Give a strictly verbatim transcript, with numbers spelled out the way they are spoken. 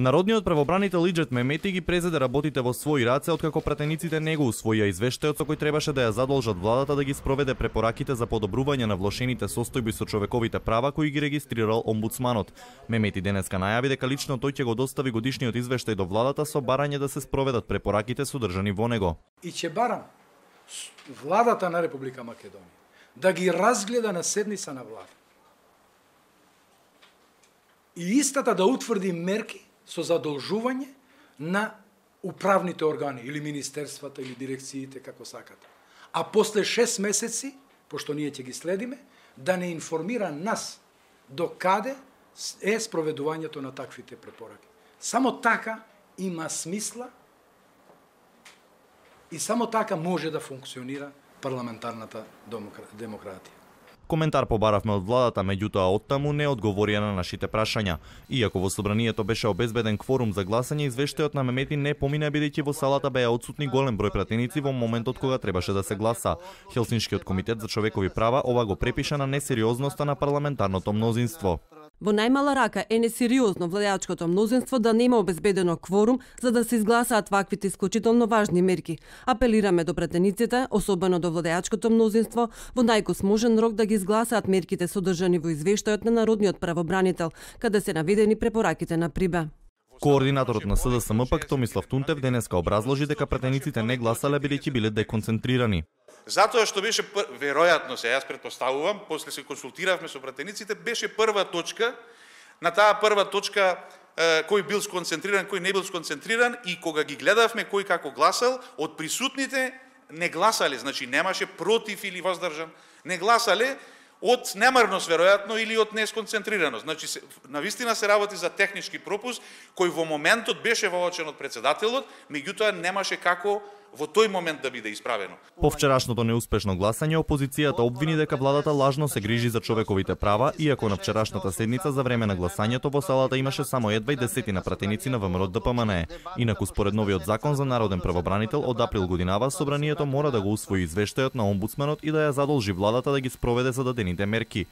Народниот правобранител Иџет Мемети ги презеде работите во своји раце откако пратениците не го усвоија извештајот со кој требаше да ја задолжат владата да ги спроведе препораките за подобрување на влошените состојби со човековите права кои ги регистрирал омбудсманот. Мемети денеска најави дека лично тој ќе го достави годишниот извештај до владата со барање да се спроведат препораките содржани во него. И ќе барам владата на Република Македонија да ги разгледа на седница на влада. И истата да утврди мерки со задолжување на управните органи или министерствата или дирекциите како сакате. А после шест месеци, пошто ние ќе ги следиме, да не информира нас до каде е спроведувањето на таквите препораки. Само така има смисла и само така може да функционира парламентарната демократија. Коментар побаравме од владата, меѓутоа оттаму не одговорија на нашите прашања. Иако во собранието беше обезбеден кворум за гласање, извештајот на Мемети не помина бидејќи во салата беа отсутни голем број пратеници во моментот кога требаше да се гласа. Хелсиншкиот комитет за човекови права ова го препиша на несериозноста на парламентарното мнозинство. Во најмала рака е несериозно владеачкото мнозинство да нема обезбедено кворум за да се изгласаат ваквите исклучително важни мерки. Апелираме до пратениците, особено до владеачкото мнозинство, во најкосможен рок да ги изгласаат мерките содржани во извештајот на Народниот правобранител, каде се наведени препораките на Прибе. Координаторот на С Д С М пак Томислав Тунтев денеска образложи дека пратениците не гласале бидејќи биле деконцентрирани. Затоа што беше пр... веројатно се, јас претпоставувам, после се консултиравме со пратениците, беше прва точка, на таа прва точка е, кој бил сконцентриран, кој не бил сконцентриран и кога ги гледавме кој како гласал, од присутните не гласале, значи немаше против или воздржан, не гласале од немарност веројатно или од несконцентрираност. Значи навистина се работи за технички пропуск кој во моментот беше воочен од председателот, меѓутоа немаше како во тој момент да биде исправено. По вчерашното неуспешно гласање, опозицијата обвини дека владата лажно се грижи за човековите права, иако на вчерашната седница за време на гласањето во салата имаше само едва и десетина пратеници на ВМРО Д П М Н Е. Инаку според новиот закон за народен правобранител од април годинава, собранието мора да го усвои извештајот на омбудсманот и да ја задолжи владата да ги спроведе зададените мерки.